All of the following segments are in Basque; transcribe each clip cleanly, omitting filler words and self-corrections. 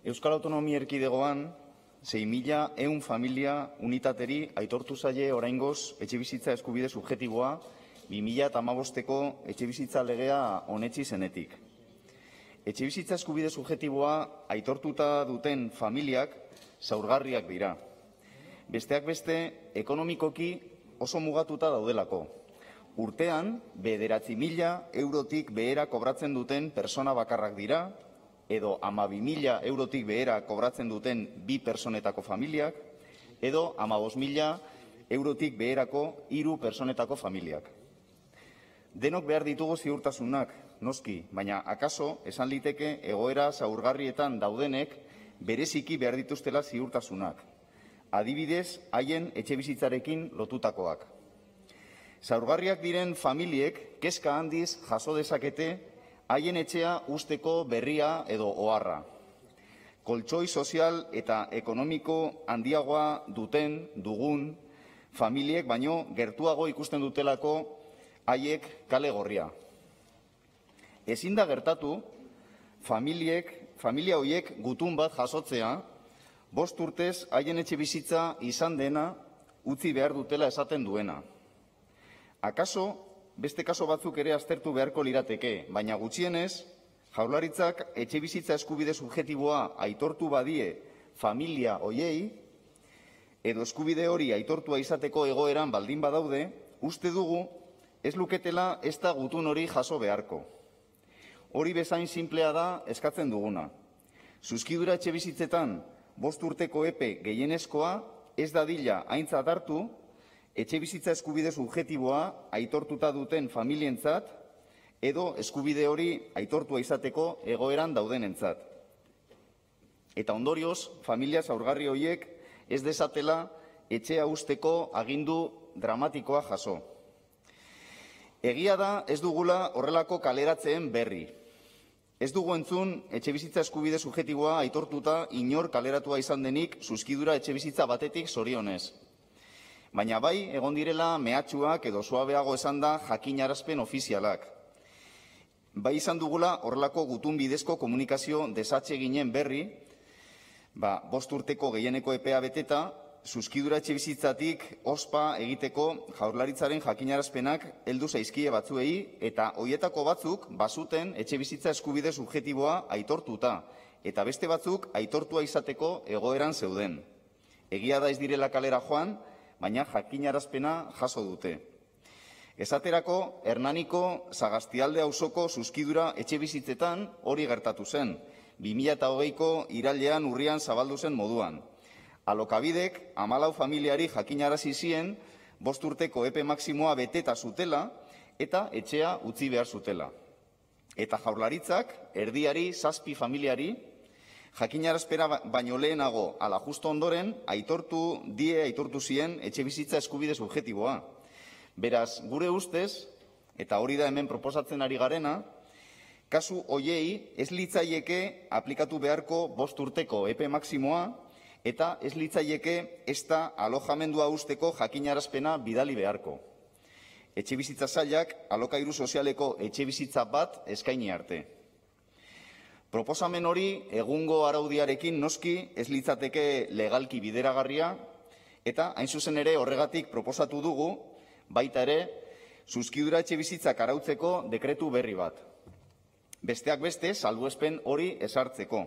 Euskal Autonomia Erkidegoan 6.100 familia unitateri aitortu zaie oraingoz etxebizitza eskubide subjektiboa 2015ko etxebizitza legea onetsi zenetik. Etxebizitza eskubide subjektiboa aitortuta duten familiak zaurgarriak dira. Besteak beste, ekonomikoki oso mugatuta daudelako. Urtean, 9.000 eurotik behera kobratzen duten persona bakarrak dira, edo 12.000 eurotik behera kobratzen duten 2 personetako familiak, edo 15.000 eurotik beherako 3 personetako familiak. Denok behar ditugu ziurtasunak, noski, baina akaso esan liteke egoera zaurgarrietan daudenek bereziki behar dituztela ziurtasunak. Adibidez, haien etxebizitzarekin lotutakoak. Zaurgarriak diren familiek kezka handiz jaso dezakete haien etxea usteko berria edo oharra. Koltxoi sozial eta ekonomiko handiagoa dugun familiek baino gertuago ikusten dutelako haiek kale gorria. Ezin da gertatu familia horiek gutun bat jasotzea, 5 urtez haien etxebizitza izan dena utzi behar dutela esaten duena. Akaso, beste kaso batzuk ere aztertu beharko lirateke, baina gutxienez, Jaurlaritzak etxebizitza eskubide subjektiboa aitortu badie familia hoiei, edo eskubide hori aitortua izateko egoeran baldin badaude, uste dugu ez luketela ez da gutun hori jaso beharko. Hori bezain sinplea da eskatzen duguna. Zuzkidura etxebizitzetan 5 urteko epe gehienezkoa ez dadila aintzat hartu etxebizitza eskubide subjektiboa aitortuta duten familientzat edo eskubide hori aitortua izateko egoeran daudenentzat. Eta ondorioz, familia zaurgarri horiek ez dezatela etxea usteko agindu dramatikoa jaso. Egia da ez dugula horrelako kaleratzeen berri. Ez dugu entzun etxebizitza eskubide subjektiboa aitortuta inor kaleratua izan denik zuzkidura etxebizitza batetik zorionez. Baina bai, egon direla mehatxuak edo suabeago esan da jakinarazpen ofizialak. Bai izan dugula horrelako gutun bidezko komunikazio desatseginen berri, 5 urteko gehieneko epea beteta, zuzkidura etxebizitzatik ospa egiteko Jaurlaritzaren jakinarazpenak heldu zaizkie batzuei eta hoietako batzuk bazuten etxebizitza eskubide subjektiboa aitortuta eta beste batzuk aitortua izateko egoeran zeuden. Egia da ez direla kalera joan, baina jakinarazpena jaso dute. Esaterako, Hernaniko Sagastialde auzoko zuzkidura etxebizitzetan hori gertatu zen, 2020ko irailean urrian zabaldu zen moduan. Alokabidek 14 familiari jakinarazi zien 5 urteko epe maximoa beteta zutela eta etxea utzi behar zutela. Eta Jaurlaritzak erdiari 7 familiari jakinarazpena baino lehenago ala justo ondoren aitortu zien etxebizitza eskubide subjektiboa. Beraz, gure ustez, eta hori da hemen proposatzen ari garena, kasu hoiei ez litzaieke aplikatu beharko 5 urteko epe maximoa eta ez litzaieke ez da alojamendua usteko jakinarazpena bidali beharko. Etxebizitza sailak alokairu sozialeko etxebizitza bat eskaini arte. Proposamen hori egungo araudiarekin noski ez litzateke legalki bideragarria eta hain zuzen ere horregatik proposatu dugu baita ere zuzkidura etxebizitzak arautzeko dekretu berri bat. Besteak beste salbuespen hori ezartzeko.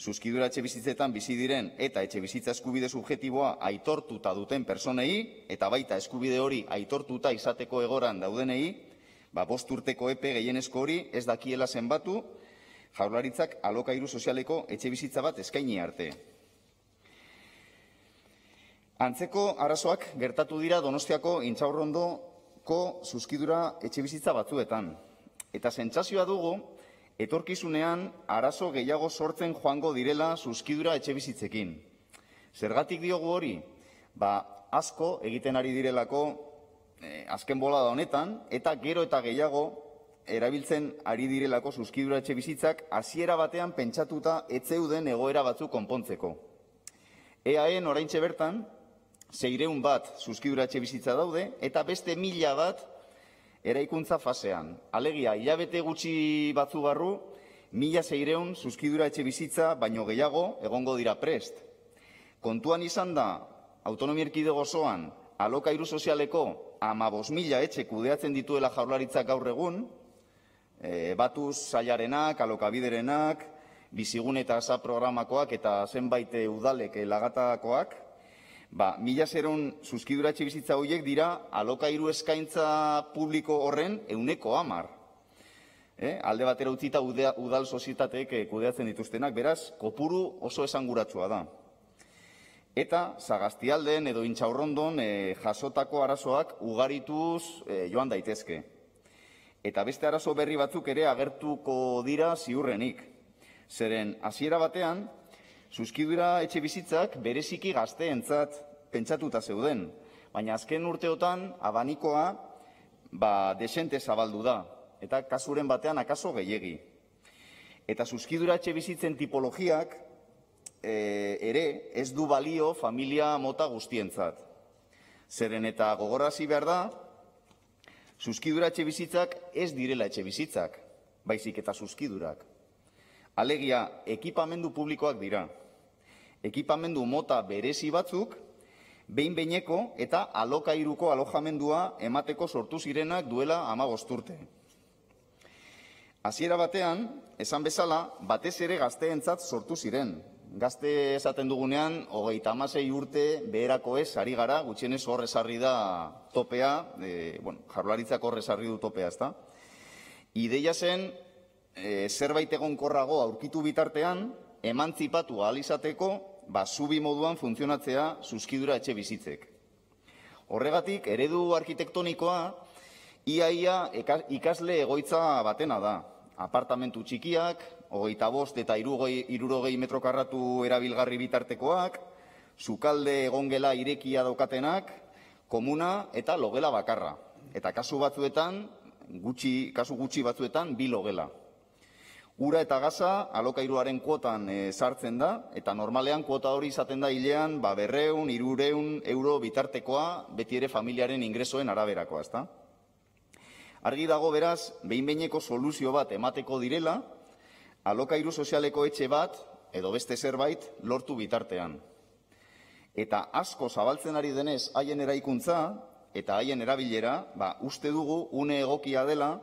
Zuzkidura etxebizitzetan bizi diren eta etxebizitza eskubide subjektiboa aitortuta duten personei eta baita eskubide hori aitortuta izateko egoran daudenei, 5 urteko epe gehienezko hori ez dakiela zenbatu Jaurlaritzak alokairu sozialeko etxebizitza bat eskaini arte. Antzeko arazoak gertatu dira Donostiako Intxaurrondoko zuzkidura etxebizitza batzuetan. Eta sentsazioa dugu, etorkizunean arazo gehiago sortzen joango direla zuzkidura etxebizitzekin. Zergatik diogu hori? Asko egiten ari direlako azken bolada honetan, eta gero eta gehiago erabiltzen ari direlako zuzkidura etxebizitzak hasiera batean pentsatuta ez zeuden egoera batzuk konpontzeko. EAEn oraintxe bertan 600 bat zuzkidura etxebizitza daude eta beste 1000 bat eraikuntza fasean. Alegia, hilabete gutxi batzu barru 1.600 zuzkidura etxe bizitza baino gehiago egongo dira prest. Kontuan izan da, autonomia erkidego osoan, alokairu sozialeko 15.000 etxe kudeatzen dituela Jaurlaritzak gaur egun, batuz sailarenak, alokabiderenak, bizigune eta asa programakoak eta zenbait udalek lagatakoak, 1.600 zuzkidura etxe bizitza horiek dira alokairu eskaintza publiko horren 110%. Alde batera utzita udal sozietateek kudeatzen dituztenak, beraz, kopuru oso esanguratsua da. Eta Sagastialden edo Intxaurrondon jasotako arazoak ugarituz joan daitezke. Eta beste arazo berri batzuk ere agertuko dira ziurrenik. Zeren, hasiera batean, zuzkidura etxe bizitzak bereziki gazteentzat pentsatuta zeuden. Baina azken urteotan abanikoa desente zabaldu da. Eta kasuren batean akaso gehiegi. Eta zuzkidura etxe bizitzen tipologiak ere ez du balio familia mota guztientzat. Zeren eta gogorarazi behar da, zuzkidura etxe bizitzak ez direla etxe bizitzak, baizik eta zuzkidurak. Alegia, ekipamendu publikoak dira. Ekipamendu mota berezi batzuk, behin-behineko eta alokairuko alojamendua emateko sortu zirenak duela 15 urte. Hasiera batean, esan bezala, batez ere gazteentzat sortu ziren. Gazte esaten dugunean, 36 urte beherako ez ari gara, gutxienez hor ezarri da topea, Jaurlaritzak hor ezarri du topea, ezta? Ideia zen, zerbait egonkorrago aurkitu bitartean, emantzipatu ahal izateko, zubi moduan funtzionatzea zuzkidura etxe bizitzek. Horregatik, eredu arkitektonikoa, ia ikasle egoitza batena da. Apartamentu txikiak, 25 eta 60 metro karratu erabilgarri bitartekoak, sukalde egongela irekia daukatenak, komuna eta logela bakarra. Eta kasu gutxi batzuetan, 2 logela. Ura eta gaza alokairuaren kuotan sartzen da, eta normalean kuota hori izaten da hilean 200–300 euro bitartekoa, beti ere familiaren ingresoen araberakoa, ezta? Argi dago beraz, behin-behineko soluzio bat emateko direla, alokairu sozialeko etxe bat, edo beste zerbait, lortu bitartean. Eta asko zabaltzen ari denez haien eraikuntza eta haien erabilera, uste dugu une egokia dela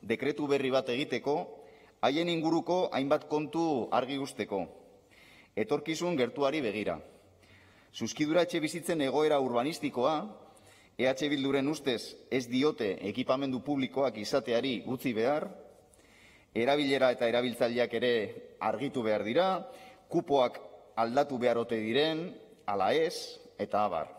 dekretu berri bat egiteko, haien inguruko hainbat kontu argi usteko. Etorkizun gertuari begira. Zuzkidura etxe bizitzen egoera urbanistikoa, EH Bilduren ustez ez diote ekipamendu publikoak izateari utzi behar, erabilera eta erabiltzaileak ere argitu behar dira, kupoak aldatu behar ote diren, ala ez, eta abar.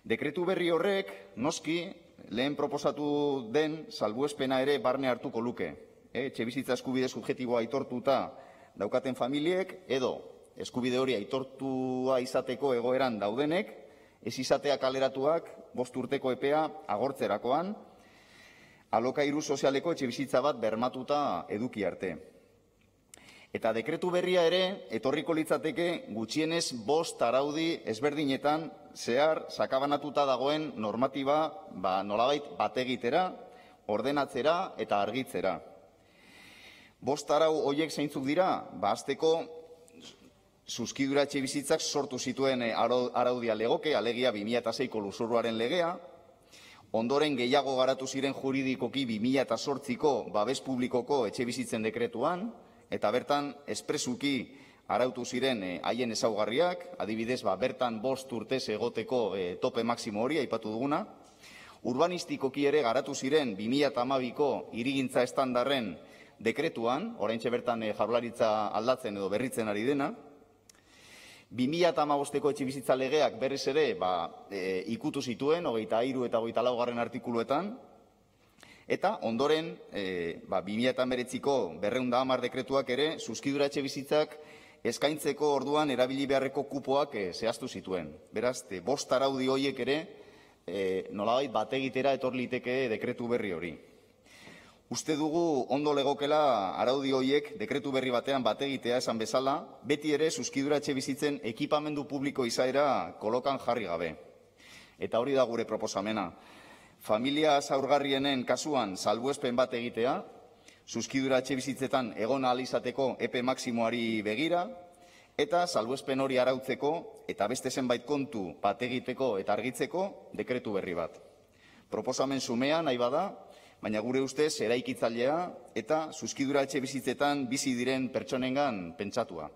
Dekretu berri horrek, noski, lehen proposatu den salbuespena ere barne hartuko luke. Etxebizitza eskubide subjektiboa aitortuta daukaten familiek, edo eskubide hori aitortua izateko egoeran daudenek, ez izatea kaleratuak 5 urteko epea agortzerakoan, alokairu sozialeko etxebizitza bat bermatuta eduki arte. Eta dekretu berria ere, etorriko litzateke gutxienez 5 araudi ezberdinetan zehar sakabanatuta dagoen normatiba nolabait bategitera, ordenatzera eta argitzera. 5 arau horiek zeintzuk dira, hasteko zuzkidura etxe bizitzak sortu zituen araudia legoke, alegia 2006ko lurzoruaren legea, ondoren gehiago garatu ziren juridikoki 2008ko babes publikoko etxe bizitzen dekretuan, eta bertan espresuki arautu ziren haien ezaugarriak, adibidez bertan 5 urtez egoteko tope maksimo hori aipatu duguna, urbanistikoki ere garatu ziren 2012ko hirigintza estandarren dekretuan, oraintxe bertan Jaurlaritza aldatzen edo berritzen ari dena, 2015ko etxebizitza legeak berriz ere ikutu zituen, 23 eta 24 artikuluetan, eta ondoren 2019ko 210 dekretuak ere zuzkidura etxebizitzak eskaintzeko orduan erabili beharreko kupoak zehaztu zituen. Beraz, 5 araudi horiek ere nolabait bategitera etor liteke dekretu berri hori. Uste dugu ondo legokela araudi horiek dekretu berri batean bategitea esan bezala, beti ere zuzkidura etxebizitzen ekipamendu publiko izaera kolokan jarri gabe. Eta hori da gure proposamena. Familia zaurgarrienen kasuan salbuespen bat egitea, zuzkidura etxebizitzetan egon ahal izateko epe maximoari begira, eta salbuespen hori arautzeko eta beste zenbait kontu bat egiteko eta argitzeko dekretu berri bat. Proposamen xumea nahi bada, baina gure ustez eraikitzailea eta zuzkidura etxebizitzetan bizi diren pertsonengan pentsatua.